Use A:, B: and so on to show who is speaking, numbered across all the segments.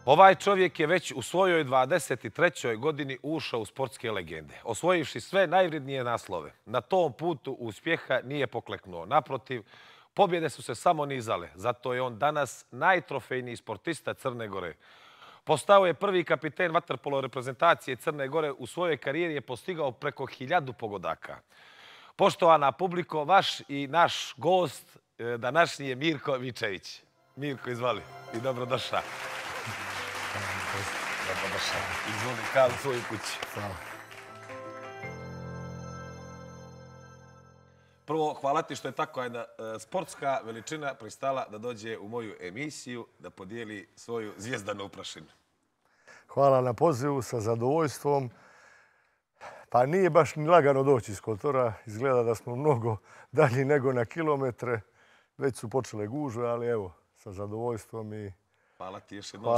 A: Ovaj čovjek je već u svojoj 23. godini ušao u sportske legende, osvojivši sve najvrednije naslove. Na tom putu uspjeha nije pokleknuo. Naprotiv, pobjede su se samo nizale. Zato je on danas najtrofejniji sportista Crne Gore. Postao je prvi kapiten vaterpolo reprezentacije Crne Gore. U svojoj karijeri je postigao preko 1000 pogodaka. Poštovana publiko, vaš i naš gost današnji je Mirko Vičević. Mirko, izvoli i dobrodošao. Dobrodošao. Izvoli kao u svojoj kući.
B: Hvala.
A: Prvo, hvala ti što je tako jedna sportska veličina pristala da dođe u moju emisiju da podijeli svoju zvijezdanu uprašinu.
B: Hvala na pozivu, sa zadovoljstvom. Pa nije baš ni lagano doći iz Kotora. Izgleda da smo mnogo dalji nego na kilometre. Već su počele gužve, ali evo, sa zadovoljstvom i
A: hvala ti još jednom.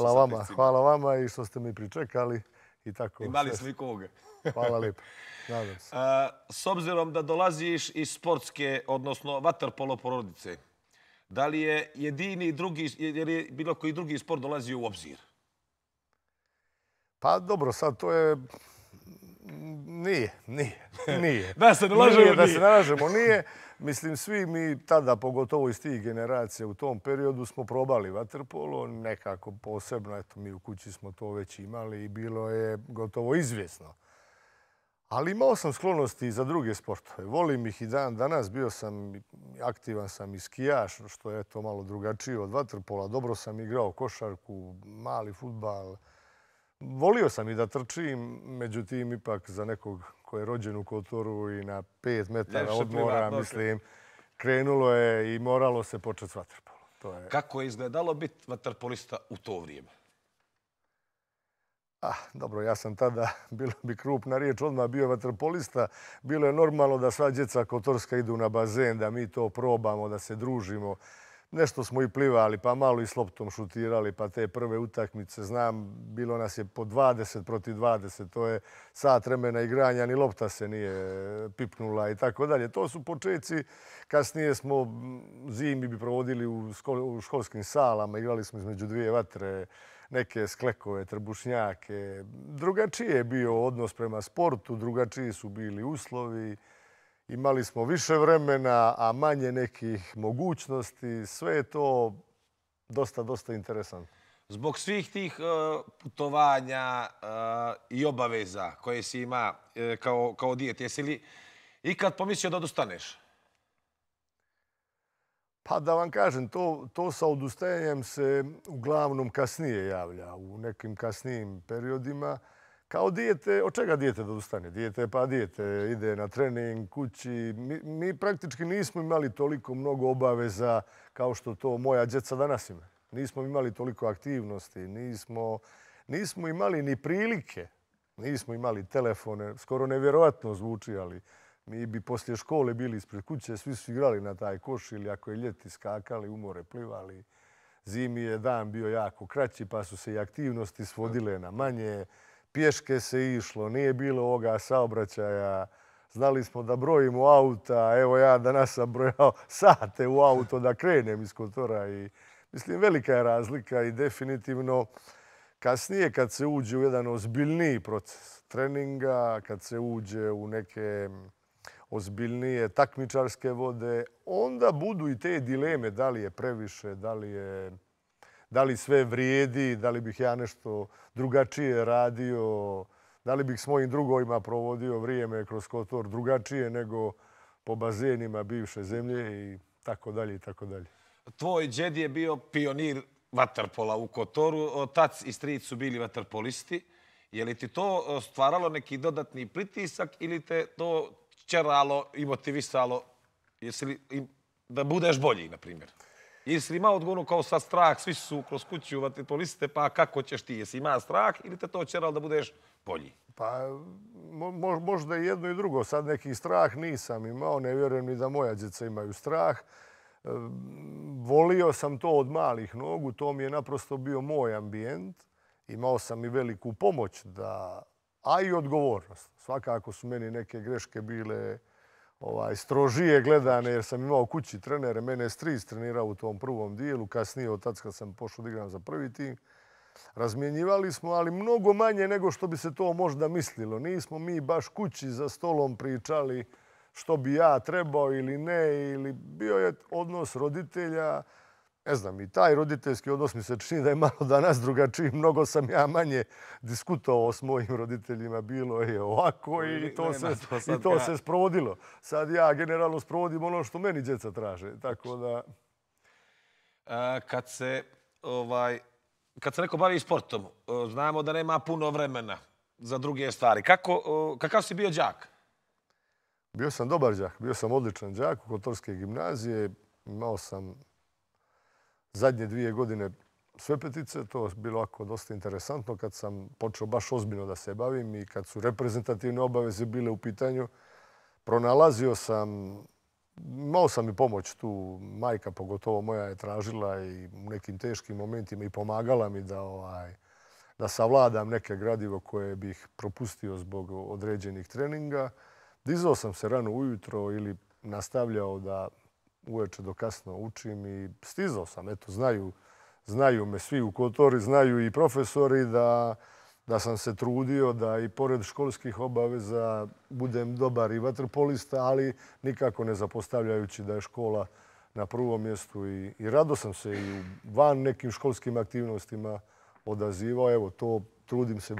B: Hvala vama i što ste mi pričekali. I tako.
A: Imali smo i koga.
B: Hvala lijepo. Nadam se.
A: S obzirom da dolaziš iz sportske, odnosno vaterpolo porodice, da li je jedini drugi, jer je bilo koji drugi sport dolazio u obzir?
B: Pa dobro, sad to je... Nije.
A: Da se ne lažemo, nije.
B: Da se ne lažemo, nije. Mislim, svi mi tada, pogotovo iz tih generacija, u tom periodu smo probali vaterpolo, nekako posebno, eto, mi u kući smo to već imali i bilo je gotovo izvjesno. Ali imao sam sklonosti za druge sportove. Volim ih i dan danas, aktivan sam i skijaš, što je to malo drugačije od vaterpola. Dobro sam igrao košarku, mali fudbal. Volio sam i da trčim, međutim, ipak za nekog ko je rođen u Kotoru i na 5 metara odmora, mislim, krenulo je i moralo se početi s vaterpolom.
A: Kako je izgledalo biti vaterpolista u to vrijeme?
B: Dobro, ja sam tada, bilo bi krupna riječ, odmah bio vaterpolista. Bilo je normalno da sva djeca kotorska idu na bazen, da mi to probamo, da se družimo. Nešto smo i plivali, pa malo i s loptom šutirali, pa te prve utakmice, znam, bilo nas je po 20 protiv 20, to je sat vremena igranja, ni lopta se nije pipnula i tako dalje. To su početci, kasnije smo zimi bi provodili u školskim salama, igrali smo između dvije vatre, neke sklekove, trbušnjake. Drugačije je bio odnos prema sportu, drugačiji su bili uslovi. Imali smo više vremena, a manje nekih mogućnosti. Sve je to dosta interesantno.
A: Zbog svih tih putovanja i obaveza koje si ima kao dijet, jesi li ikad pomislio da odustaneš?
B: Pa da vam kažem, to sa odustajanjem se uglavnom kasnije javlja, u nekim kasnijim periodima. Kao dijete, od čega dijete da odustane? Dijete ide na trening, kući. Mi praktički nismo imali toliko mnogo obaveza kao što to moja djeca danas ima. Nismo imali toliko aktivnosti, nismo imali ni prilike, nismo imali telefone. Skoro nevjerojatno zvuči, ali mi bi poslije škole bili ispred kuće, svi su igrali na taj koš ili ako je ljeti skakali, u more plivali. Zimi je dan bio jako kraći, pa su se i aktivnosti svodile na manje. Pješke se išlo, nije bilo ovoga saobraćaja. Znali smo da brojimo auta. Evo ja danas sam brojao sate u auto da krenem iz Kotora. Mislim, velika je razlika i definitivno kasnije kad se uđe u jedan ozbiljniji proces treninga, kad se uđe u neke ozbiljnije takmičarske vode, onda budu i te dileme da li je previše, da li sve vrijedi, da li bih ja nešto drugačije radio, da li bih s mojim drugovima provodio vrijeme kroz Kotor drugačije nego po bazenima bivše zemlje i tako dalje i tako dalje.
A: Tvoj džed je bio pionir vaterpola u Kotoru, otac i stric su bili vaterpolisti. Je li ti to stvaralo neki dodatni pritisak ili te to čeralo i motivisalo da budeš bolji, na primjer? Jesi li imao odgovorno kao sad strah, svi su kroz kuću vaterpoliste, pa kako ćeš ti? Jesi imao strah ili te to čeralo da budeš bolji?
B: Pa možda i jedno i drugo. Sad neki strah nisam imao, ne vjerujem ni da moja djeca imaju strah. Volio sam to od malih nogu, to mi je naprosto bio moj ambijent. Imao sam i veliku pomoć, a i odgovornost. Svakako su meni neke greške bile strožije gledane jer sam imao kući trenere. Mene je stric trenirao u tom prvom dijelu. Kasnije od tad kad sam pošao da igram za prvi tim. Razmjenjivali smo, ali mnogo manje nego što bi se to možda mislilo. Nismo mi baš kući za stolom pričali što bi ja trebao ili ne, ili bio je odnos roditelja. Ne znam, i taj roditeljski odnos mi se čini da je malo danas drugačiji. Mnogo sam ja manje diskutovao s mojim roditeljima. Bilo je ovako i to se sprovodilo. Sad ja generalno sprovodim ono što meni djeca traže. Tako da...
A: Kad se neko bavi sportom, znamo da nema puno vremena za druge stvari. Kakav si bio đak?
B: Bio sam dobar đak. Bio sam odličan đak u Kotorske gimnazije. Imao sam zadnje 2 godine sve petice. To je bilo ovako dosta interesantno kad sam počeo baš ozbiljno da se bavim i kad su reprezentativne obaveze bile u pitanju. Pronalazio sam, imao sam i pomoć tu. Majka, pogotovo moja, je tražila i u nekim teškim momentima i pomagala mi da savladam neke gradivo koje bih propustio zbog određenih treninga. Dizao sam se rano ujutro ili nastavljao da uveče do kasno učim i stizao sam. Eto, znaju me svi u Kotori, znaju i profesori da sam se trudio da i pored školskih obaveza budem dobar i vaterpolista, ali nikako ne zapostavljajući da je škola na prvom mjestu. I rado sam se i van nekim školskim aktivnostima odazivao. Evo, to trudim se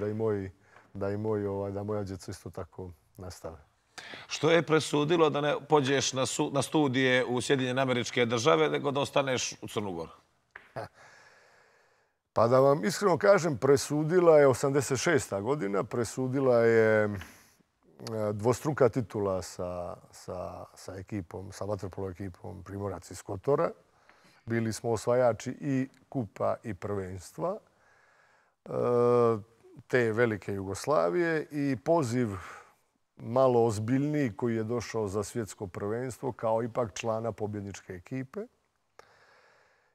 B: da moja djeca isto tako nastave.
A: Što je presudilo da ne pođeš na studije u Sjedinjene Američke Države, nego da ostaneš u Crnu Goru?
B: Pa da vam iskreno kažem, presudila je 86. godina, presudila je dvostruka titula sa ekipom, sa vaterpolo ekipom Primorac iz Kotora. Bili smo osvajači i kupa i prvenstva te velike Jugoslavije i poziv malo ozbiljniji koji je došao za svjetsko prvenstvo kao ipak člana pobjedničke ekipe.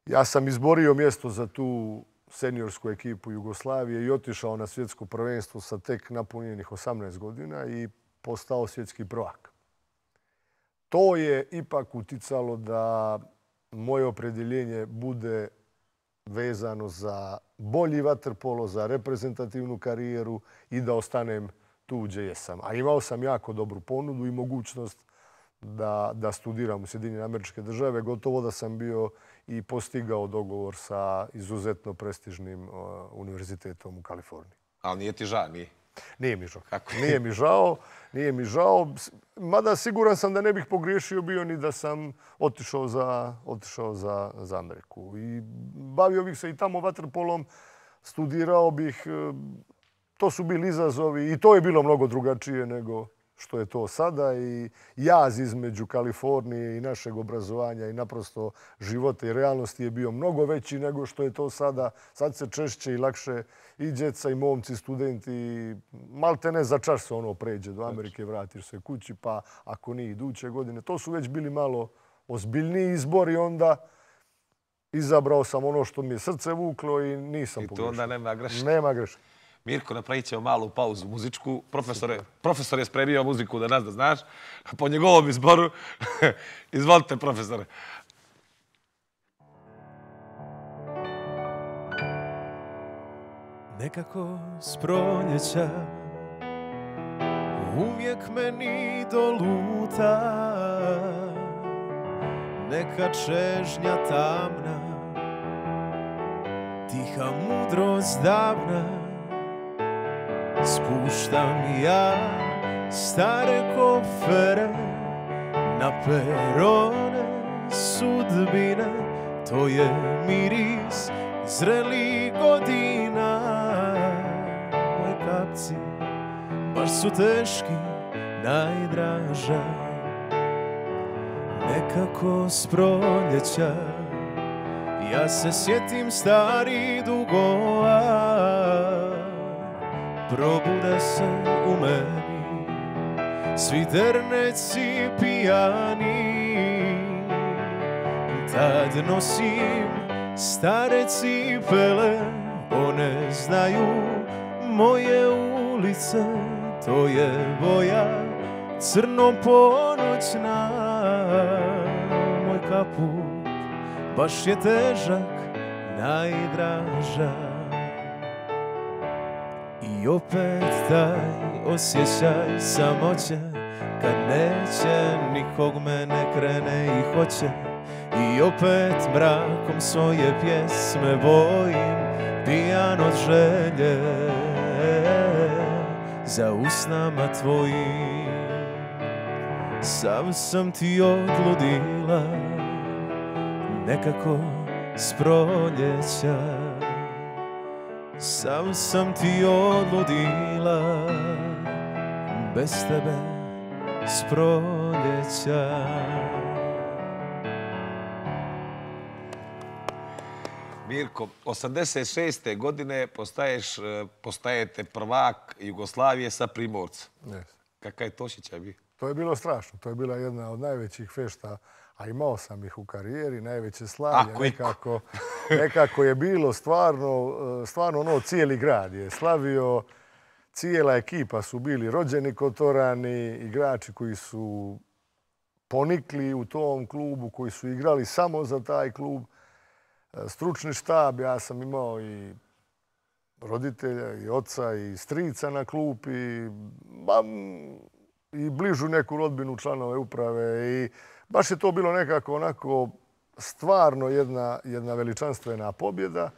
B: Ja sam izborio mjesto za tu seniorsku ekipu Jugoslavije i otišao na svjetsko prvenstvo sa tek napunjenih 18 godina i postao svjetski prvak. To je ipak uticalo da moje opredjeljenje bude vezano za bolji vaterpolo, za reprezentativnu karijeru i da ostanem tu gdje jesam. A imao sam jako dobru ponudu i mogućnost da studiram u Sjedinjene Američke Države. Gotovo da sam bio i postigao dogovor sa izuzetno prestižnim univerzitetom u Kaliforniji.
A: Ali nije ti žao, nije?
B: Nije mi žao. Nije mi žao. Mada siguran sam da ne bih pogriješio bio ni da sam otišao za Ameriku. I bavio bih se i tamo vaterpolom, studirao bih. To su bili izazovi i to je bilo mnogo drugačije nego što je to sada. I jaz između Kalifornije i našeg obrazovanja i naprosto života i realnosti je bio mnogo veći nego što je to sada. Sad se češće i lakše i djeca i momci, studenti, malte ne za čas se ono pređe do Amerike, vratiš se kući, pa ako nije iduće godine. To su već bili malo ozbiljniji izbori, onda izabrao sam ono što mi je srce vuklo i nisam pogrešio.
A: I to onda nema greške.
B: Nema greške.
A: Mirko, napravit ćemo malu pauzu muzičku. Profesor je spremio muziku da znaš. Po njegovom izboru. Izvolite, profesore.
C: Nekako s proljeća uvijek meni doluta neka čežnja tamna, tiha mudrost davna. Spuštam ja stare kofere na perone sudbine. To je miris zrelih godina. Moji kapci baš su teški, najdraža. Nekako s proljeća ja se sjetim starih dugova. Probude se u meni svi derneci pijani. Tad nosim stare cipele, one znaju moje ulice. To je boja crno-ponoćna. Moj kaput baš je težak, najdraža. I opet taj osjećaj samoće, kad neće nikog me ne krene i hoće. I opet mrakom svoje pjesme bojim, pijan od želje za usnama tvojim. Sam sam ti odludila nekako s proljeća. Sam sam ti odludila bez tebe s proljeća.
A: Mirko, 86. godine postajete prvak Jugoslavije sa Primorca. Kakav je to osjećaj bio?
B: To je bilo strašno. To je bila jedna od najvećih fešta, a imao sam ih u karijeri, najveće slavlje. Nekako je bilo stvarno ono, cijeli grad je slavio, cijela ekipa su bili rođeni Kotorani, igrači koji su ponikli u tom klubu, koji su igrali samo za taj klub. Stručni štab, ja sam imao i roditelja, i oca, i strica na klupi, i bližu neku rodbinu, članove uprave. I baš je to bilo nekako onako stvarno jedna veličanstvena pobjeda,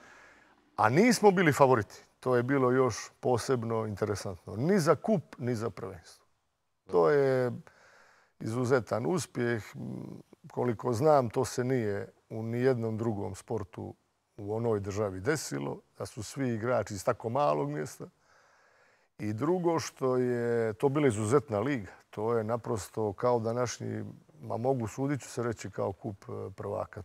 B: a nismo bili favoriti. To je bilo još posebno interesantno. Ni za kup, ni za prvenstvo. To je izuzetan uspjeh. Koliko znam, to se nije u nijednom drugom sportu u onoj državi desilo, da su svi igrači iz tako malog mjesta. I drugo što je to bila izuzetna liga. To je naprosto kao današnji, mogu sudit ću se reći kao kup prvaka.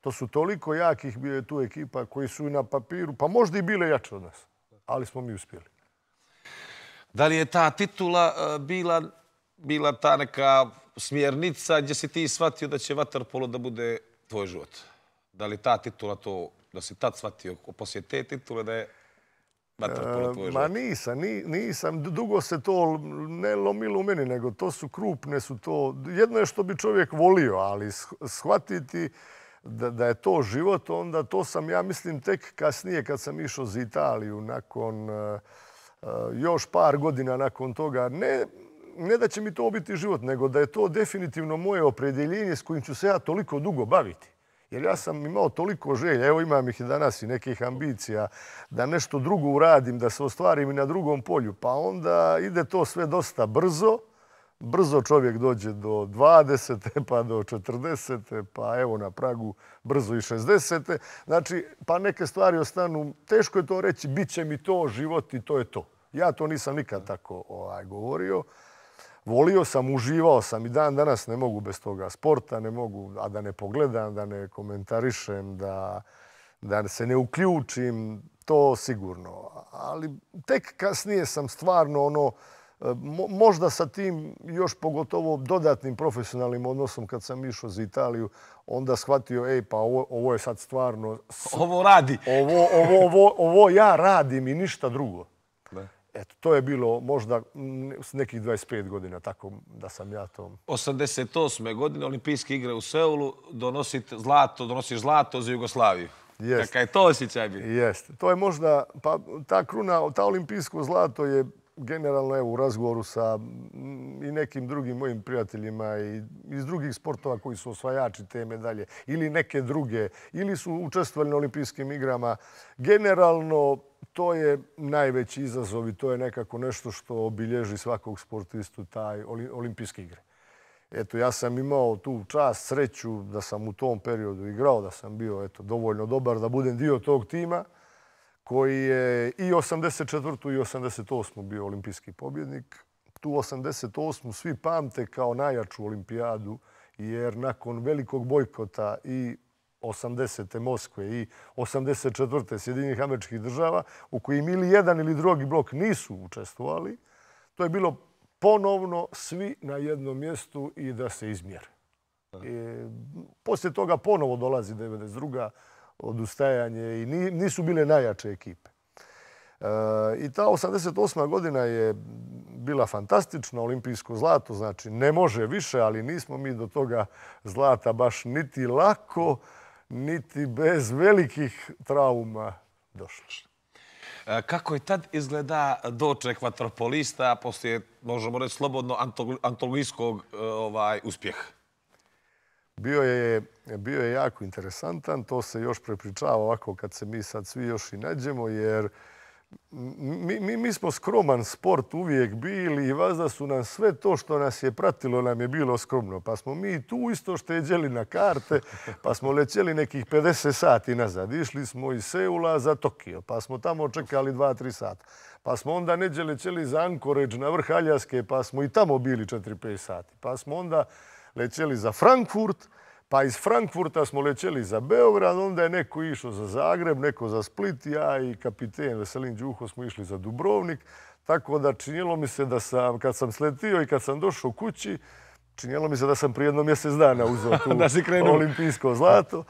B: To su toliko jakih, bio je tu ekipa koji su na papiru, pa možda i bile jače od nas, ali smo mi uspjeli.
A: Da li je ta titula bila ta neka smjernica gdje si ti shvatio da će vaterpolo da bude tvoj život? Da li ta titula to, da si tad shvatio poslije te titule da je vaterpolo tvoj život?
B: Ma nisam. Dugo se to ne lomilo u meni, nego to su krupne, su to... Jedno je što bi čovjek volio, ali shvatiti da je to život, onda to sam, ja mislim, tek kasnije kad sam išao za Italiju, nakon još par godina nakon toga, ne da će mi to biti život, nego da je to definitivno moje opredjeljenje s kojim ću se ja toliko dugo baviti. Jer ja sam imao toliko želja, evo imam ih i danas i nekih ambicija, da nešto drugo uradim, da se ostvarim i na drugom polju. Pa onda ide to sve dosta brzo. Brzo čovjek dođe do 20. pa do 40. pa evo na pragu brzo i 60. Znači, pa neke stvari ostanu, teško je to reći, bit će mi to život i to je to. Ja to nisam nikad tako govorio. Volio sam, uživao sam i dan danas ne mogu bez toga sporta, ne mogu, a da ne pogledam, da ne komentarišem, da se ne uključim, to sigurno. Ali tek kasnije sam stvarno možda sa tim još pogotovo dodatnim profesionalnim odnosom kad sam išao za Italiju, onda shvatio, pa ovo je sad stvarno...
A: Ovo radi.
B: Ovo ja radim i ništa drugo. Eto, to je bilo možda s nekih 25 godina, tako da sam ja to...
A: 88. godine olimpijske igre u Seulu, donosiš zlato za Jugoslaviju. Kakav je to osjećaj bio?
B: Jeste. To je možda, pa ta kruna, ta olimpijsko zlato je generalno u razgovoru sa i nekim drugim mojim prijateljima i iz drugih sportova koji su osvajači te medalje ili neke druge, ili su učestvovali na olimpijskim igrama. Generalno, to je najveći izazov i to je nekako nešto što obilježi svakog sportistu, taj olimpijske igre. Eto, ja sam imao tu čast, sreću da sam u tom periodu igrao, da sam bio dovoljno dobar da budem dio tog tima koji je i 84. i 88. bio olimpijski pobjednik. Tu 88. svi pamte kao najjaču olimpijadu, jer nakon velikog bojkota i 80. Moskve i 84. Sjedinjenih Američkih Država, u kojim ili jedan ili drugi blok nisu učestvovali, to je bilo ponovno svi na jednom mjestu i da se izmjere. Poslije toga ponovo dolazi 92. odustajanje i nisu bile najjače ekipe. I ta 88. godina je bila fantastična, olimpijsko zlato, znači ne može više, ali nismo mi do toga zlata baš niti lako, niti bez velikih trauma došli.
A: Kako je tad izgleda doček vaterpolista poslije, možemo reći, slobodno antologijskog uspjeha?
B: Bio je jako interesantan. To se još prepričava ovako kad se mi sad svi još i nađemo, jer mi smo skroman sport uvijek bili i vazda su nam sve to što nas je pratilo nam je bilo skromno. Pa smo mi tu isto šteđeli na karte, pa smo lećeli nekih 50 sati nazad. Išli smo iz Seula za Tokio, pa smo tamo čekali 2-3 sata. Pa smo onda neđe lećeli za Anchorage na vrh Aljaske, pa smo i tamo bili 4-5 sati. Pa smo onda lećeli za Frankfurt, pa iz Frankfurta smo lećeli za Beograd, onda je neko išao za Zagreb, neko za Split, ja i kapiten Veselin Đuho smo išli za Dubrovnik. Tako da činjelo mi se da sam, kad sam sletio i kad sam došao kući, činjelo mi se da sam prije jedno mjesec dana uzeo tu olimpijsko zlato.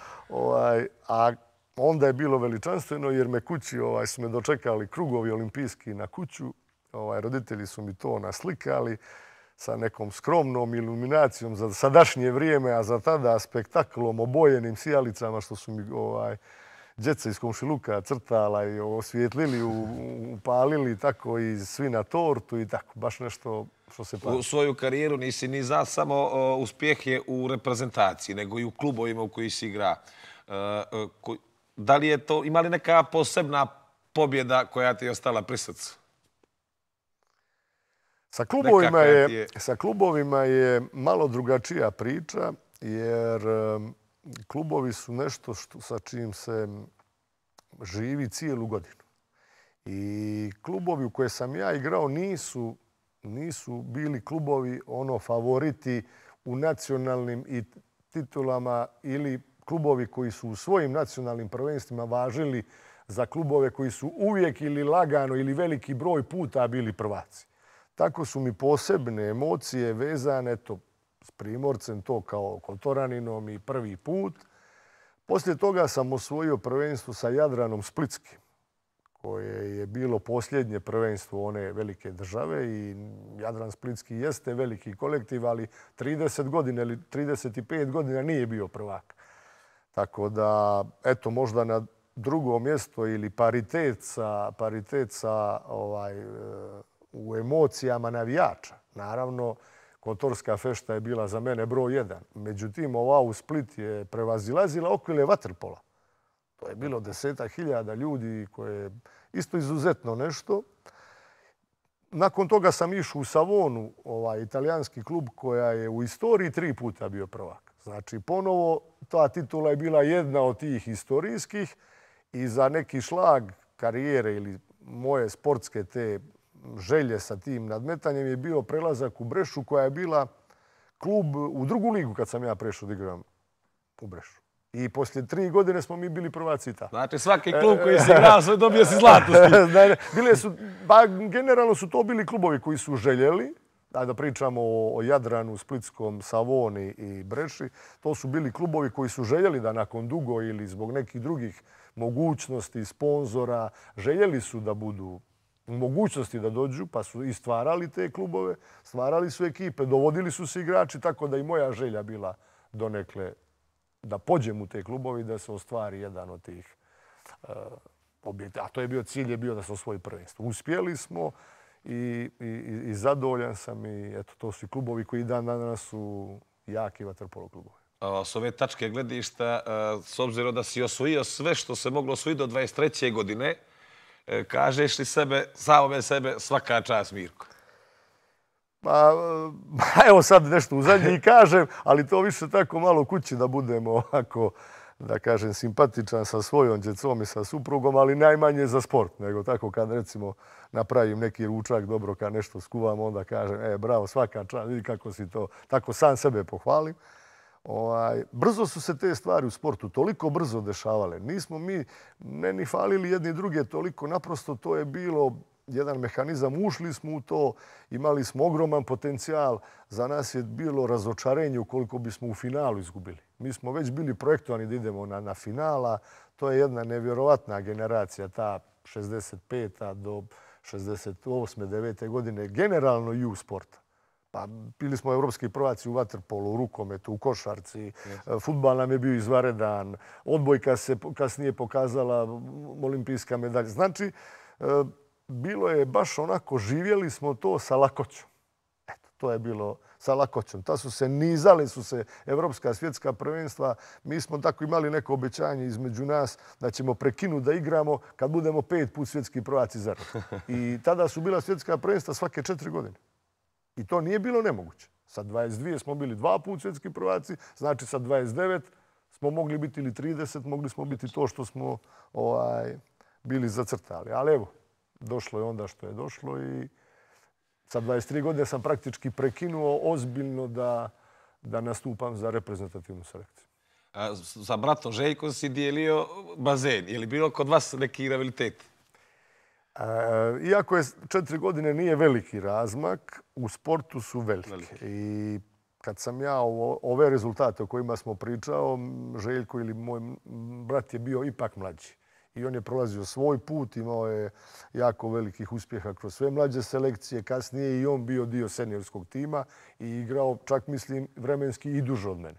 B: A onda je bilo veličanstveno jer me kući su me dočekali krugovi olimpijski na kuću. Roditelji su mi to naslikali sa nekom skromnom iluminacijom za sadašnje vrijeme, a za tada spektaklom obojenim sijalicama što su mi djeca iz komšiluka crtala i osvijetlili, upalili, tako i svi na tortu i tako. Baš nešto što se pravi.
A: U svoju karijeru nisi ni za samo uspjehe u reprezentaciji, nego i u klubovima u koji si igra. Da li je to, ima li neka posebna pobjeda koja ti je ostala pri srcu?
B: Sa klubovima je malo drugačija priča, jer klubovi su nešto sa čim se živi cijelu godinu. I klubovi u koje sam ja igrao nisu bili klubovi favoriti u nacionalnim i titulama ili klubovi koji su u svojim nacionalnim prvenstvima važili za klubove koji su uvijek ili lagano ili veliki broj puta bili prvaci. Tako su mi posebne emocije vezane s Primorcem, to kao Kotoraninom i prvi put. Poslije toga sam osvojio prvenstvo sa Jadranom Splitskim, koje je bilo posljednje prvenstvo one velike države i Jadran Splitski jeste veliki kolektiv, ali 30 godina ili 35 godina nije bio prvak. Tako da, eto, možda na drugo mjesto ili paritet sa u emocijama navijača. Naravno, Kotorska fešta je bila za mene broj 1. Međutim, ova u Split je prevazilazila okvile vaterpola. To je bilo 10.000 ljudi koje je isto izuzetno nešto. Nakon toga sam išao u Savonu, italijanski klub koja je u istoriji 3 puta bio prvak. Znači, ponovo ta titula je bila jedna od tih historijskih i za neki šlag karijere ili moje sportske te želje sa tim nadmetanjem je bio prelazak u Brešu koja je bila klub u drugu ligu kad sam ja prešao da igram u Brešu. I poslije 3 godine smo mi bili prvaci i tako.
A: Znači svaki klub koji si igrao sve dobio si zlato.
B: Generalno su to bili klubovi koji su željeli, da pričamo o Jadranu, Splitskom, Savoni i Breši, to su bili klubovi koji su željeli da nakon dugo ili zbog nekih drugih mogućnosti, sponzora, željeli su da budu u mogućnosti da dođu, pa su i stvarali te klubove, stvarali su ekipe, dovodili su se igrači, tako da i moja želja bila donekle da pođem u te klubovi i da se ostvari jedan od tih objekta. A to je bio cilj, je bio da se osvoji prvenstvo. Uspjeli smo i zadovoljan sam i eto, to su i klubovi koji dan danas su jaki vaterpolo klubovi.
A: S ove tačke gledišta, s obzirom da si osvojio sve što se moglo osvojiti do 23. godine, kažeš li samome sebe svaka čast, Mirko?
B: Pa evo sad nešto u zadnji kažem, ali to više tako malo kući da budemo ovako, da kažem, simpatičan sa svojom djecom i sa suprugom, ali najmanje za sport, nego tako kad recimo napravim neki ručak dobro, kad nešto skuvam, onda kažem, bravo, svaka čast, vidi kako si to, tako sam sebe pohvalim. Brzo su se te stvari u sportu toliko brzo dešavale. Nismo mi ni falili jedni druge toliko. Naprosto to je bilo jedan mehanizam. Ušli smo u to, imali smo ogroman potencijal. Za nas je bilo razočarenje ukoliko bismo u finalu izgubili. Mi smo već bili projektovani da idemo na finala. To je jedna nevjerovatna generacija, ta 65. do 68. 9. godine, generalno i u sporta. Pa bili smo evropski prvaci u vaterpolu, u rukometu, u košarci. Fudbal nam je bio izvanredan. Odbojka se kasnije pokazala olimpijska medalja. Znači, bilo je baš onako, živjeli smo to sa lakoćom. Eto, to je bilo sa lakoćom. Nizali su se evropska svjetska prvenstva. Mi smo tako imali neko obećanje između nas da ćemo prekinuti da igramo kad budemo 5 put svjetski prvaci zaredom. I tada su bila svjetska prvenstva svake 4 godine. I to nije bilo nemoguće. Sa 22 smo bili 2 put svjetski prvaci, znači sa 29 smo mogli biti ili 30, mogli smo biti to što smo bili zacrtali. Ali evo, došlo je onda što je došlo i sa 23 godine sam praktički prekinuo ozbiljno da nastupam za reprezentativnu selekciju.
A: Sa bratom Željkom si dijelio bazen. Je li bilo kod vas neki rivalitet?
B: Iako je 4 godine nije veliki razmak, u sportu su velike. I kad sam ja ove rezultate o kojima smo pričao, Željko ili moj brat je bio ipak mlađi. I on je prolazio svoj put, imao je jako velikih uspjeha kroz sve mlađe selekcije. Kasnije i on bio dio seniorskog tima i igrao, čak mislim, vremenski i duže od mene.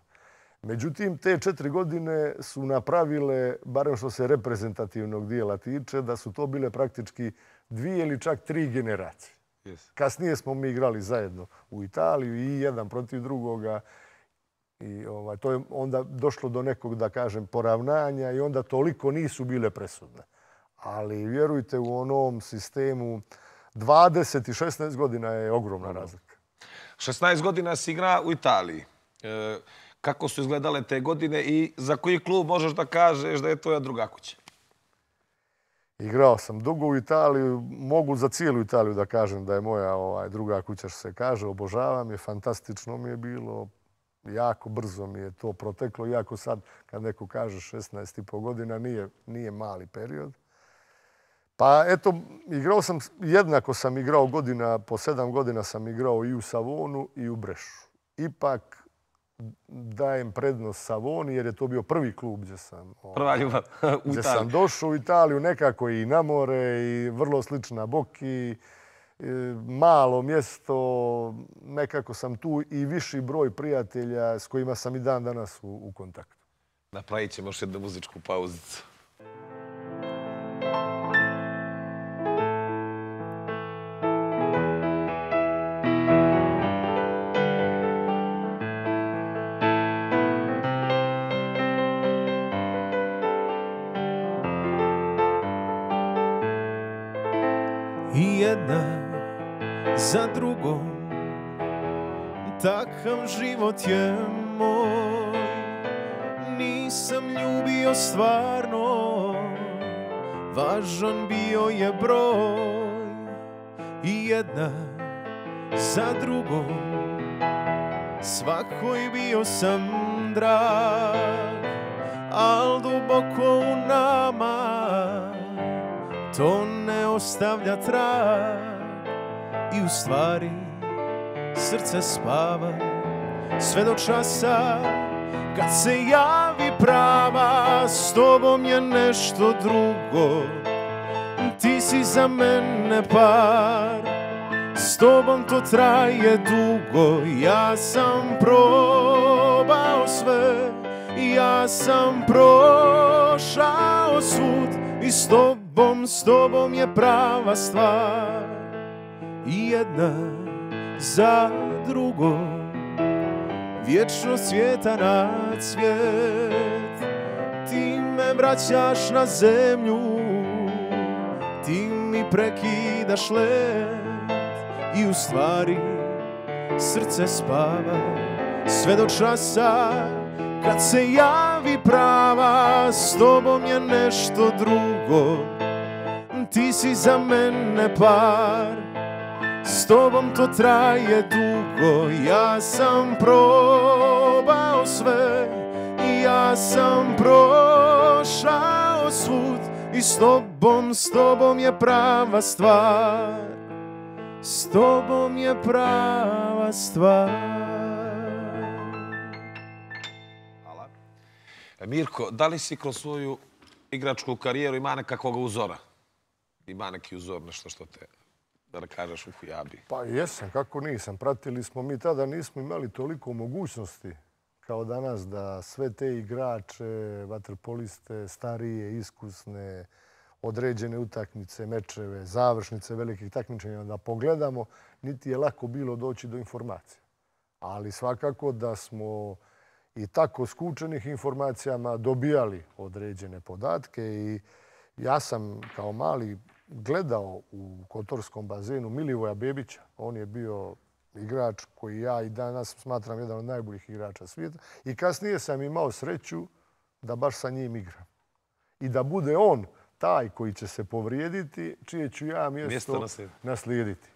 B: Međutim, te 4 godine su napravile, barem što se reprezentativnog dijela tiče, da su to bile praktički 2 ili čak 3 generacije. Kasnije smo mi igrali zajedno u Italiju i jedan protiv drugoga. I to je onda došlo do nekog, da kažem, poravnanja i onda toliko nisu bile presudne. Ali vjerujte, u onom sistemu 20 i 16 godina je ogromna razlika.
A: 16 godina si igra u Italiji. Kako su izgledale te godine i za koji klub možeš da kažeš da je tvoja druga kuća?
B: Igrao sam dugo u Italiji. Mogu za cijelu Italiju da kažem da je moja druga kuća, što se kaže. Obožavam je, fantastično mi je bilo. Jako brzo mi je to proteklo, iako sad kad neko kaže 16,5 godina nije mali period. Pa eto, jednako sam igrao godina, po 7 godina sam igrao i u Savonu i u Brešu. Ipak dajem prednost Savoni jer je to bio prvi klub gdje sam,
A: prva ljubav u Italiji.
B: Gdje sam došao u Italiju, nekako i na more i vrlo slična Boki. Malo mjesto, nekako sam tu i viši broj prijatelja s kojima sam i dan danas u kontaktu.
A: Napravit ćemo još jednu muzičku pauzicu.
C: I jedna za drugom, takav život je moj. Nisam ljubio stvarno, važan bio je broj. I jedna za drugom, svakoj bio sam drag, al duboko u nama to ne ostavlja trag. I u stvari srce spava sve do časa kad se javi prava. S tobom je nešto drugo, ti si za mene par. S tobom to traje dugo, ja sam probao sve, ja sam prošao svud. I s tobom je prava stvar. I jedna za drugom, vječno svijeta na cvijet. Ti me vraćaš na zemlju, ti mi prekidaš let. I u stvari srce spava sve do časa kad se javi prava. S tobom je nešto drugo, ti si za mene par. S tobom to traje dugo, ja sam probao sve, ja sam prošao svud. I s tobom je prava stvar, s tobom je prava stvar.
A: Hvala. Mirko, da li si kroz svoju igračku karijeru ima nekakvog uzora? Ima neki uzor, nešto što te, da kažeš, u Hujabi?
B: Pa jesam, kako nisam. Pratili smo, mi tada nismo imali toliko mogućnosti kao danas da sve te igrače, vaterpoliste, starije, iskusne, određene utakmice, mečeve, završnice velikih takmičenja da pogledamo, niti je lako bilo doći do informacija. Ali svakako da smo i tako skučenih informacijama dobijali određene podatke i ja sam kao mali gledao u Kotorskom bazenu Milivoja Bebića. On je bio igrač koji ja i danas smatram jedan od najboljih igrača svijeta. I kasnije sam imao sreću da baš sa njim igram. I da bude on taj koji će se povrijediti, čije ću ja mjesto naslijediti.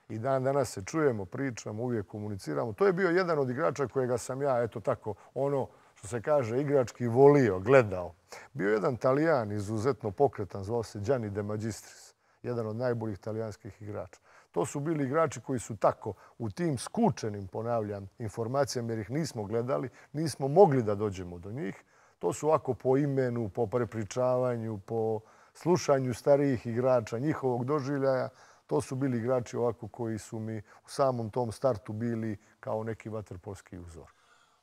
B: I dan danas se čujemo, pričamo, uvijek komuniciramo. To je bio jedan od igrača kojega sam ja, eto tako, ono što se kaže igrački volio, gledao. Bio jedan Talijan izuzetno pokretan, zvao se Gianni De Magistris, jedan od najboljih talijanskih igrača. To su bili igrači koji su tako u tim skučenim, ponavljam, informacijama jer ih nismo gledali, nismo mogli da dođemo do njih. To su ovako po imenu, po prepričavanju, po slušanju starijih igrača, njihovog doživljaja. To su bili igrači ovako koji su mi u samom tom startu bili kao neki vaterpolski uzor.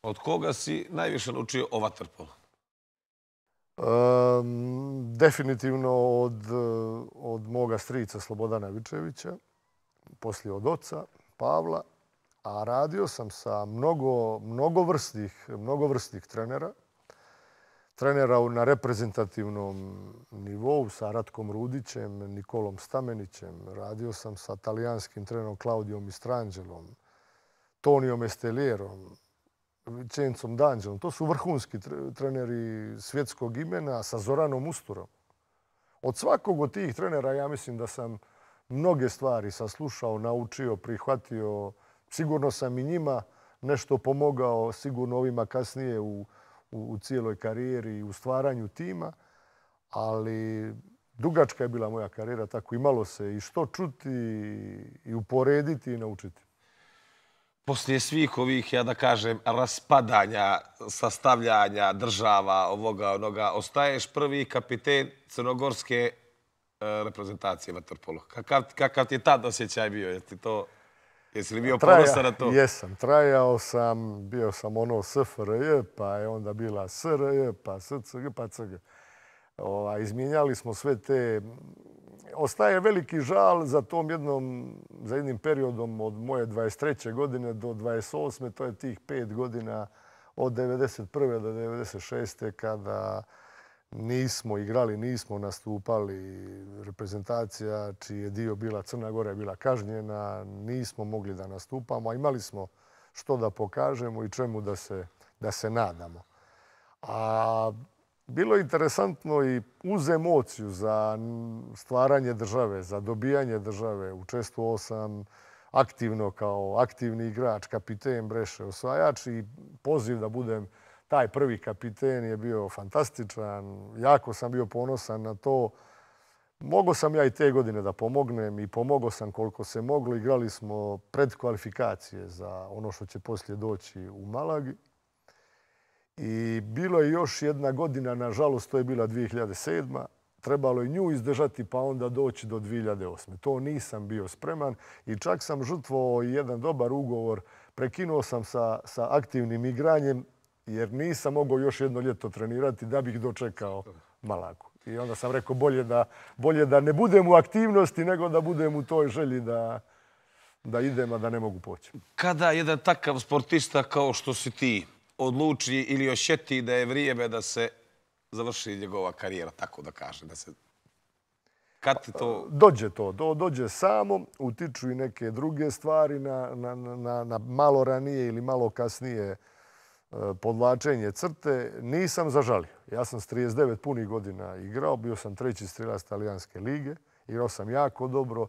A: Od koga si najviše naučio o vaterpolu?
B: Definitivno od moga strica Slobodana Vičevića, poslije od oca Pavla, a radio sam sa mnogovrsnih trenera. Trenera na reprezentativnom nivou sa Ratkom Rudićem, Nikolom Stamenićem. Radio sam sa talijanskim trenerom Claudijom Mistrangelom, Tonijom Estelierom, Vincenzom D'Angelom. To su vrhunski treneri svjetskog imena sa Zoranom Usturom. Od svakog od tih trenera ja mislim da sam mnoge stvari saslušao, naučio, prihvatio. Sigurno sam i njima nešto pomogao, sigurno ovima kasnije u cijeloj karijeri i u stvaranju tima, ali dugačka je bila moja karijera, tako imalo se i što čuti i uporediti i naučiti.
A: Poslije svih ovih, ja da kažem, raspadanja, sastavljanja država, ovoga, onoga, ostaješ prvi kapiten crnogorske reprezentacije vaterpolu. Kakav ti je tad osjećaj bio? Jesi li bio ponosan na to?
B: Jesam. Trajao sam, bio sam ono SFRJ, pa je onda bila SRJ, pa SCG, pa CG. Izmijenjali smo sve te... Ostaje veliki žal za jednim periodom od moje 23. godine do 28. To je tih 5 godina od 91. do 96. kada nismo igrali, nismo nastupali. Reprezentacija čiji je dio bila Crna Gora je bila kažnjena. Nismo mogli da nastupamo, a imali smo što da pokažemo i čemu da se nadamo. A bilo je interesantno i uz emociju za stvaranje države, za dobijanje države. Učestvovao sam aktivno kao aktivni igrač, kapiten Breše, osvajač i poziv da budem taj prvi kapiten je bio fantastičan. Jako sam bio ponosan na to. Mogao sam ja i te godine da pomognem i pomogao sam koliko se moglo. Igrali smo predkvalifikacije za ono što će poslije doći u Malagi. I bilo je još jedna godina, nažalost, to je bila 2007. Trebalo je nju izdržati pa onda doći do 2008. To nisam bio spreman i čak sam žrtvovao jedan dobar ugovor. Prekinuo sam sa aktivnim igranjem jer nisam mogao još jedno ljeto trenirati da bih dočekao Malagu. I onda sam rekao bolje da ne budem u aktivnosti nego da budem u toj želji da idem, a da ne mogu poći.
A: Kada jedan takav sportista kao što si ti odluči ili osjeti da je vrijeme da se završi njegova karijera, tako da kaže, kad ti to...
B: Dođe samo, utiču i neke druge stvari na malo ranije ili malo kasnije podvlačenje crte. Nisam zažalio. Ja sam s 39 punih godina igrao, bio sam 3. strelac Talijanske lige, igrao sam jako dobro.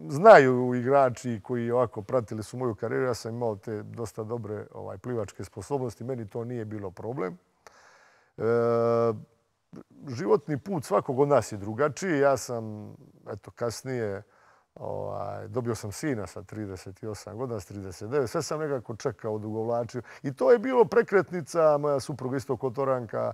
B: Znaju igrači koji ovako pratili su moju karijeru, ja sam imao te dosta dobre plivačke sposobnosti, meni to nije bilo problem. Životni put svakog od nas je drugačiji. Ja sam, kasnije dobio sam sina sa 38 godina, s 39. Sve sam nekako čekao, odugovlačio. I to je bilo prekretnica, moja supruga isto Kotoranka,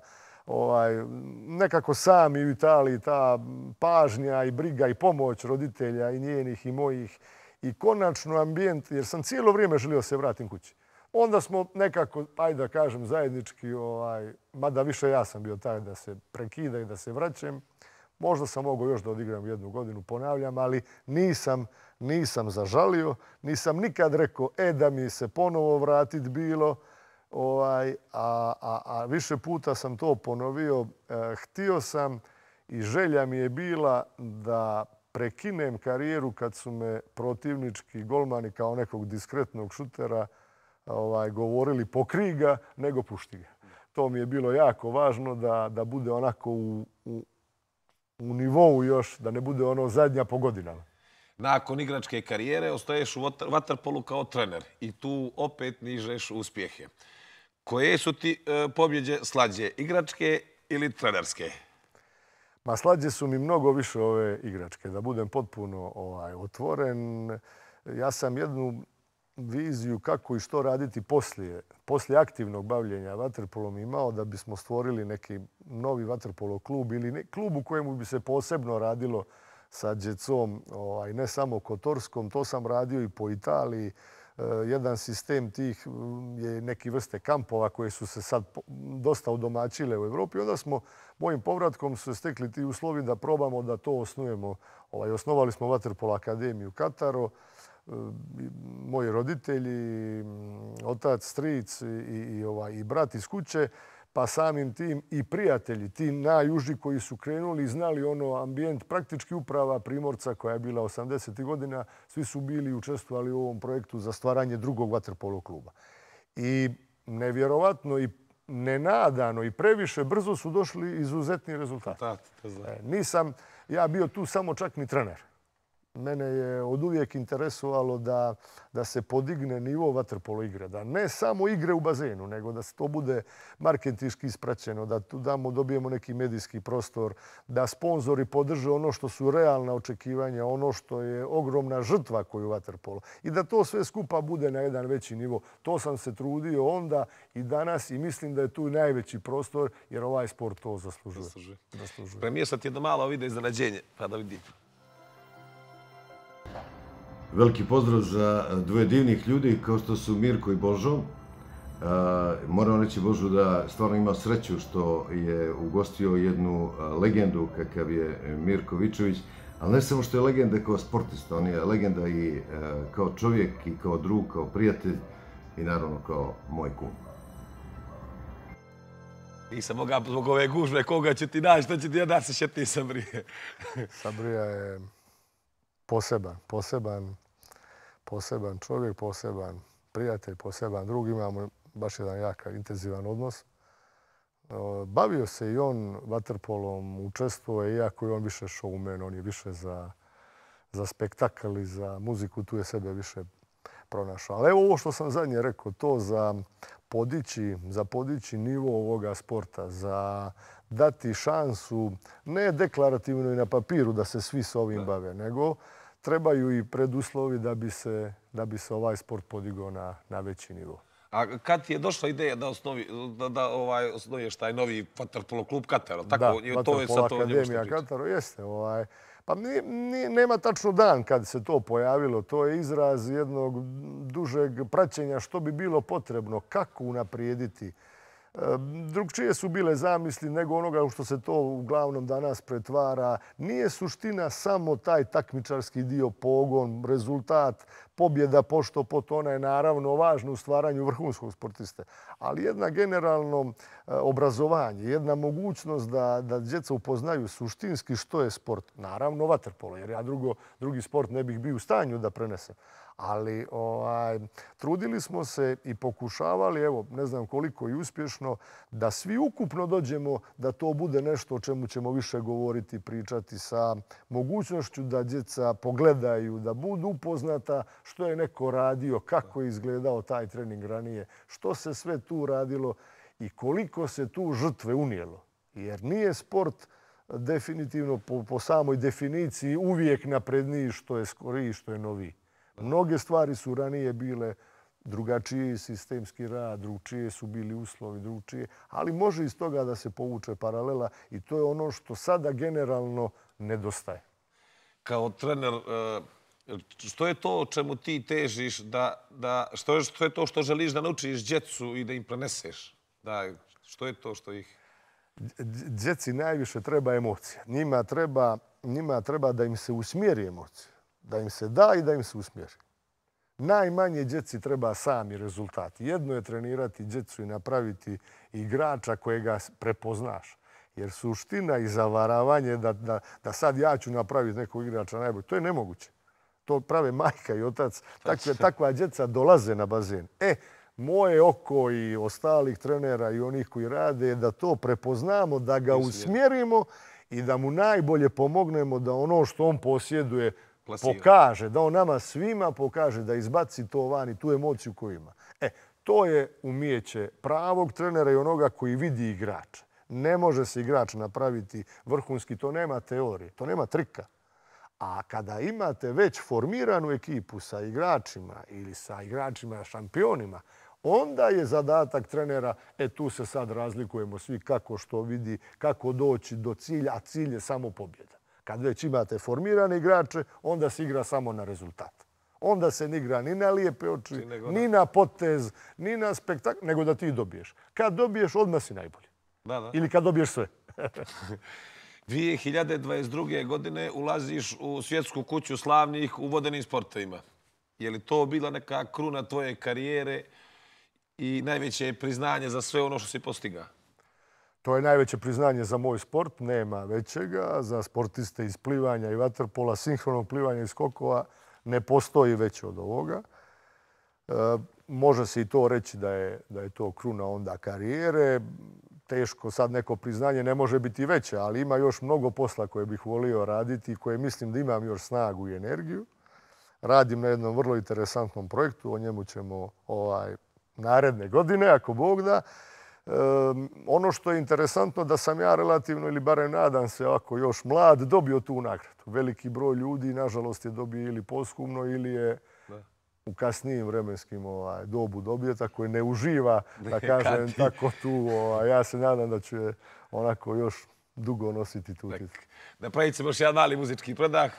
B: nekako sami u Italiji, ta pažnja i briga i pomoć roditelja i njenih i mojih i konačno ambijent, jer sam cijelo vrijeme želio se vratim kući. Onda smo nekako, ajde da kažem, zajednički, mada više ja sam bio taj da se prekida i da se vraćam, Možda sam mogao još da odigram 1 godinu, ponavljam, ali nisam zažalio. Nisam nikad rekao, da mi se ponovo vratit bilo. A više puta sam to ponovio. Htio sam i želja mi je bila da prekinem karijeru kad su me protivnički golmani kao nekog diskretnog šutera govorili pokri ga, nego pušti ga. To mi je bilo jako važno da bude onako u nivou još, da ne bude ono zadnja po godinama.
A: Nakon igračke karijere ostaješ u vaterpolu kao trener i tu opet nižeš uspjehe. Koje su ti pobjeđe slađe, igračke ili trenerske?
B: Ma slađe su mi mnogo više ove igračke, da budem potpuno otvoren. Ja sam jednu viziju kako i što raditi poslije aktivnog bavljenja vaterpolom imao da bismo stvorili neki novi vaterpolo klub ili klub u kojemu bi se posebno radilo sa djecom, ne samo kotorskom. To sam radio i po Italiji. Jedan sistem tih je neki vrste kampova koje su se sad dosta udomaćile u Evropi. Onda smo mojim povratkom se stekli ti uslovi da probamo da to osnujemo. Osnovali smo Vaterpolo akademiju u Kataru. Moji roditelji, otac, stric i brat iz kuće, pa samim tim i prijatelji, ti najuži koji su krenuli i znali ono ambijent, praktički uprava Primorca koja je bila 80. godina, svi su bili i učestvovali u ovom projektu za stvaranje drugog vaterpolo kluba. I nevjerovatno i nenadano i previše brzo su došli izuzetni rezultati. Nisam ja bio tu samo čak ni trener. Mene je oduvijek interesovalo da se podigne nivo vaterpolo igre. Da ne samo igre u bazenu, nego da se to bude marketinški ispraćeno, da tu dobijemo neki medijski prostor, da sponzori podrže ono što su realna očekivanja, ono što je ogromna žrtva koju vaterpolo. I da to sve skupa bude na jedan veći nivo. To sam se trudio onda i danas i mislim da je tu najveći prostor jer ovaj sport to zaslužuje.
A: Premijesat jedno malo vide iznenađenje, pa da vidim.
D: Veliki pozdrav za dvoje divnih ljudi kao što su Mirko i Božo. Moram reći Božu da stvarno ima sreću što je ugostio jednu legendu kakav je Mirko Vičević, ali ne samo što je legenda kao sportista, on je legenda i kao čovjek i kao drug, kao prijatelj i naravno kao moj kum.
A: Nisam mogao zbog ove gužve koga će ti naći, što će ti da se šeti Sabrije.
B: Sabrija je poseban čovjek, poseban prijatelj, poseban drug. Imamo baš jedan jak, intenzivan odnos. Bavio se i on vaterpolom, učestvovao je, iako je on više showman, on je više za spektakl i za muziku, tu je sebe više pronašao. Ali evo ovo što sam zadnje rekao, to za podići nivo ovoga sporta, za dati šansu, ne deklarativno i na papiru da se svi s ovim bave, nego trebaju i preduslovi da bi se ovaj sport podigao na veći nivo.
A: A kad ti je došla ideja da osnuješ taj novi vaterpolo klub Kataro?
B: Da, Vaterpolo akademija Kataro, jeste. Pa nema tačno dan kad se to pojavilo. To je izraz jednog dužeg praćenja što bi bilo potrebno, kako unaprijediti. Drugčije su bile zamisli nego onoga u što se to uglavnom danas pretvara. Nije suština samo taj takmičarski dio, pogon, rezultat, pobjeda pošto pot, ona je naravno važna u stvaranju vrhunskog sportiste. Ali jedna generalno obrazovanje, jedna mogućnost da djeca upoznaju suštinski što je sport. Naravno vaterpolo, jer ja drugi sport ne bih bio u stanju da prenesem. Ali trudili smo se i pokušavali, evo, ne znam koliko i uspješno, da svi ukupno dođemo da to bude nešto o čemu ćemo više govoriti, pričati sa mogućnošću da djeca pogledaju, da budu upoznata što je neko radio, kako je izgledao taj trening ranije, što se sve tu radilo i koliko se tu žrtve unijelo. Jer nije sport definitivno po samoj definiciji uvijek napredniji što je skoriji, što je noviji. Mnoge stvari su ranije bile drugačiji sistemski rad, drugčije su bili uslovi, drugčije, ali može iz toga da se povuče paralela i to je ono što sada generalno nedostaje.
A: Kao trener, što je to o čemu ti težiš, što je to što želiš da naučiš djecu i da im preneseš? Što je to što ih...
B: Djeci najviše treba emocija. Njima treba da im se usmjeri emocija. Da im se da i da im se usmjeri. Najmanje djeci treba sami rezultati. Jedno je trenirati djecu i napraviti igrača kojega prepoznaš. Jer suština i zavaravanje da sad ja ću napraviti nekog igrača najbolje, to je nemoguće. To prave majka i otac. Takva djeca dolaze na bazen. Moje oko i ostalih trenera i onih koji rade je da to prepoznamo, da ga usmjerimo i da mu najbolje pomognemo da ono što on posjeduje pokaže, da on nama svima pokaže, da izbaci to van i tu emociju koju ima. To je umijeće pravog trenera i onoga koji vidi igrača. Ne može se igrač napraviti vrhunski, to nema teorije, to nema trika. A kada imate već formiranu ekipu sa igračima ili sa igračima šampionima, onda je zadatak trenera, tu se sad razlikujemo svi kako što vidi, kako doći do cilja, a cilj je samo pobjeda. Kad već imate formirane igrače, onda se igra samo na rezultat. Onda se ne igra ni na lijepe oči, ni na potez, ni na spektakl, nego da ti dobiješ. Kad dobiješ, odmah si najbolji. Ili kad dobiješ sve.
A: 2022. godine ulaziš u svjetsku kuću slavnih u vodenim sportovima. Je li to bila neka kruna tvoje karijere i najveće priznanje za sve ono što si postigao?
B: To je najveće priznanje za moj sport, nema većega. Za sportiste iz plivanja i vaterpola, sinhronog plivanja i skokova ne postoji veće od ovoga. Može se i to reći da je to kruna onda karijere. Teško sad neko priznanje ne može biti veće, ali ima još mnogo posla koje bih volio raditi i koje mislim da imam još snagu i energiju. Radim na jednom vrlo interesantnom projektu, o njemu ćemo naredne godine, ako Bog da. Ono što je interesantno da sam ja relativno, ili barem nadam se ovako još mlad, dobio tu nagradu. Veliki broj ljudi, nažalost, je dobio ili posthumno ili je u kasnijim vremenskim dobu dobije, tako je ne uživa, da kažem, tako tu. Ja se nadam da ću je onako još dugo nositi tu titulu.
A: Napravit ćemo još jedan mali muzički predah.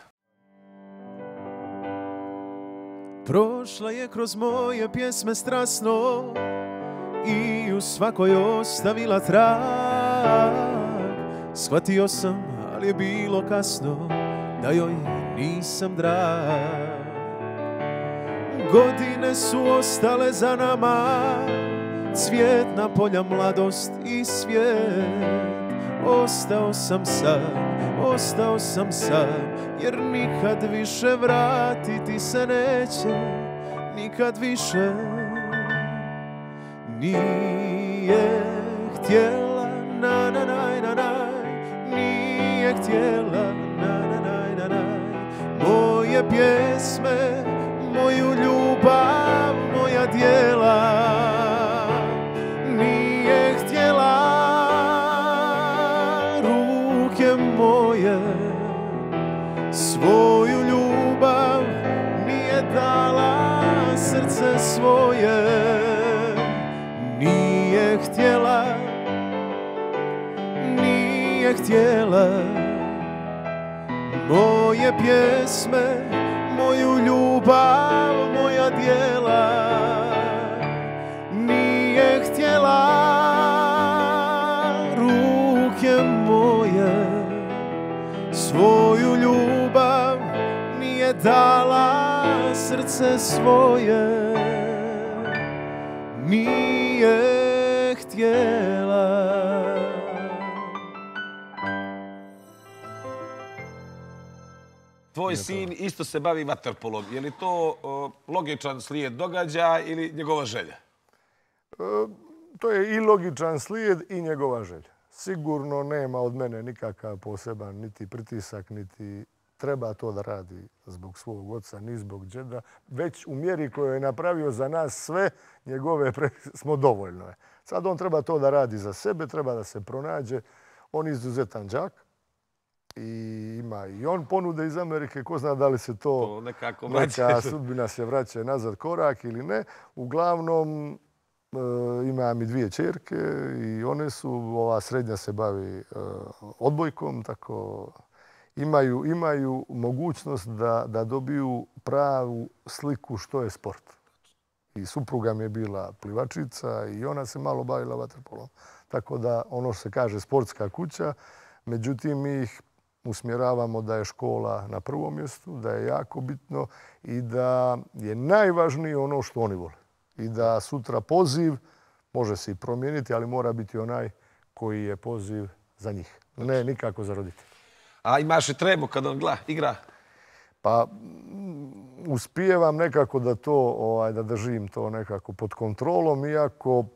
C: Prošla je kroz moje pjesme strasno i u svakoj ostavila trag. Shvatio sam, ali je bilo kasno, da joj nisam drag. Godine su ostale za nama, cvjetna polja, mladost i svijet. Ostao sam sam, jer nikad više vratiti se neće, nikad više. Nije htjela, nije htjela, moje pjesme, moju ljubav, moja djela. Nije htjela ruke moje, svoju ljubav nije dala, srce svoje. Nije htjela moje pjesme, moju ljubav, moja djela. Nije htjela ruke moje, svoju ljubav nije dala, srce svoje. Nije htjela.
A: Tvoj sin isto se bavi vaterpolom. Je li to logičan slijed događaja ili njegova želja?
B: To je i logičan slijed i njegova želja. Sigurno nema od mene nikakav poseban niti pritisak, niti treba to da radi zbog svog oca, ni zbog džeda. Već u mjeri koju je napravio za nas sve, njegove smo dovoljno. Sad on treba to da radi za sebe, treba da se pronađe. On je izuzetan đak. I ima i on ponude iz Amerike, ko zna da li se to neka sudbina se vraća nazad korak ili ne. Uglavnom, imam i 2 ćerke i one su, ova srednja se bavi odbojkom, tako imaju mogućnost da dobiju pravu sliku što je sport. I supruga mi je bila plivačica i ona se malo bavila vaterpolom. Tako da ono što se kaže sportska kuća, međutim mi ih usmjeravamo da je škola na prvom mjestu, da je jako bitno i da je najvažnije ono što oni vole. I da sutra poziv može se i promijeniti, ali mora biti onaj koji je poziv za njih. Ne nikako za roditelje.
A: A imaš i tremu kad on igra?
B: Pa uspijevam nekako da to, da držim to nekako pod kontrolom, iako u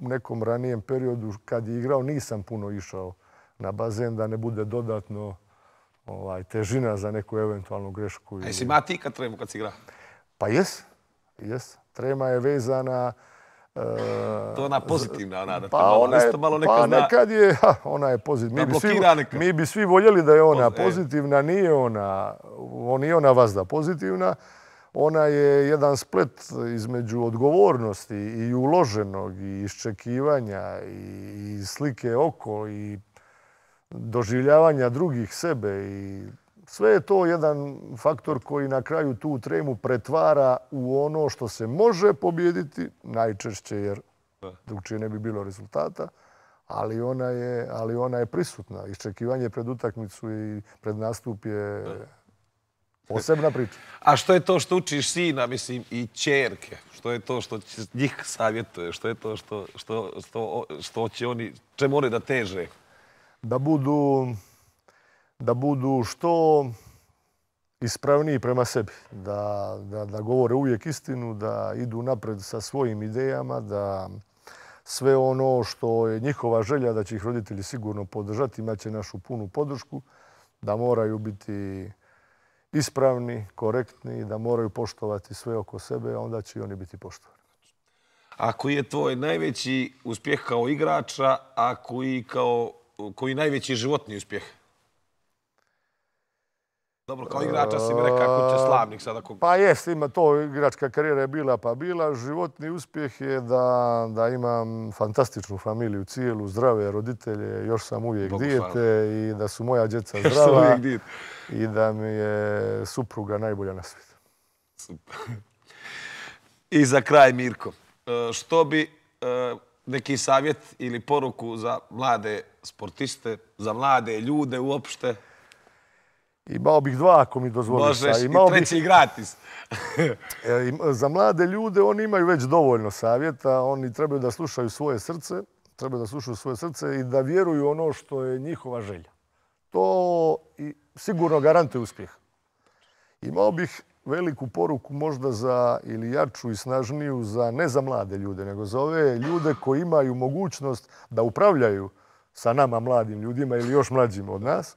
B: nekom ranijem periodu kad je igrao nisam puno išao na bazen da ne bude dodatno težina za neku eventualnu grešku.
A: A jesi ima ti kad tremu kad si igra?
B: Pa jes. Trema je vezana...
A: To je ona pozitivna, ona da te malo neka zna.
B: Pa nekad je, ona je pozitivna. Mi bi svi voljeli da je ona pozitivna, nije ona vazda pozitivna. Ona je jedan splet između odgovornosti i uloženog i iščekivanja i slike oko i doživljavanja drugih sebe i sve je to jedan faktor koji na kraju tu tremu pretvara u ono što se može pobijediti, najčešće jer drugčije ne bi bilo rezultata, ali ona je prisutna. Iščekivanje pred utakmicu i pred nastup je posebna priča.
A: A što je to što učiš sina, mislim, i ćerke? Što je to što njih savjetuje? Što je to što će oni, čemu oni da teže?
B: Da budu što ispravniji prema sebi, da govore uvijek istinu, da idu napred sa svojim idejama, da sve ono što je njihova želja da će ih roditelji sigurno podržati, imaće našu punu podršku, da moraju biti ispravni, korektni, da moraju poštovati sve oko sebe, onda će i oni biti poštovani.
A: A koji je tvoj najveći uspjeh kao igrača, a koji najveći životni uspjeh? Dobro, kao igrača si mi rekao kuća slavnih sada.
B: Pa jest, ima to, igračka karijera je bila pa bila. Životni uspjeh je da imam fantastičnu familiju, cijelu, zdrave roditelje, još sam uvijek dijete i da su moja djeca zdrava i da mi je supruga najbolja na svijetu.
A: I za kraj, Mirko, što bi neki savjet ili poruku za mlade sportiste, za mlade ljude uopšte?
B: Imao bih dva, ako mi dozvoliš.
A: Možeš i treći gratis.
B: Za mlade ljude oni imaju već dovoljno savjeta. Oni trebaju da slušaju svoje srce, i da vjeruju ono što je njihova želja. To sigurno garantuje uspjeh. Imao bih veliku poruku možda za ili jaču i snažniju ne za mlade ljude, nego za ove ljude koji imaju mogućnost da upravljaju sa nama mladim ljudima ili još mlađim od nas,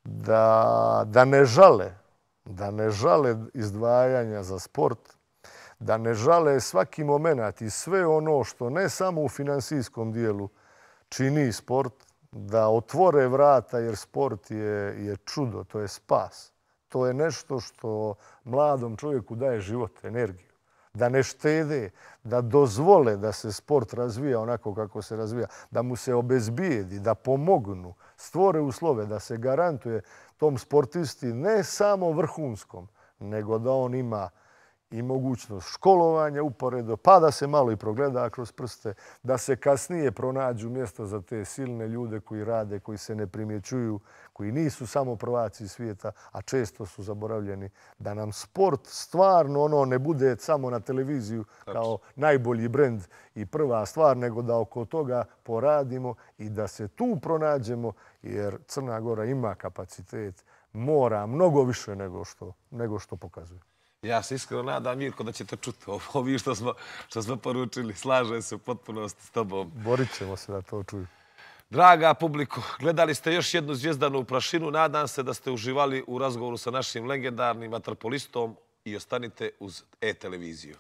B: da ne žale izdvajanja za sport, da ne žale svaki moment i sve ono što ne samo u finansijskom dijelu čini sport, da otvore vrata jer sport je čudo, to je spas. To je nešto što mladom čovjeku daje život, energiju. Da ne štede, da dozvole da se sport razvija onako kako se razvija, da mu se obezbijedi, da pomognu, stvore uslove, da se garantuje tom sportisti ne samo vrhunskom, nego da on ima i mogućnost školovanja uporedo, pa da se malo i progleda kroz prste, da se kasnije pronađu mjesto za te silne ljude koji rade, koji se ne primjećuju, koji nisu samo prvaci svijeta, a često su zaboravljeni, da nam sport stvarno ne bude samo na televiziju kao najbolji brend i prva stvar, nego da oko toga poradimo i da se tu pronađemo, jer Crna Gora ima kapacitet, mora mnogo više nego što pokazuje.
A: Ja se iskreno nadam, Mirko, da ćete čuti ovo što smo poručili. Slažem se u potpunosti s tobom.
B: Borit ćemo se da to čuju.
A: Draga publiko, gledali ste još jednu Zvijezdanu prašinu. Nadam se da ste uživali u razgovoru sa našim legendarnim vaterpolistom i ostanite uz E-televiziju.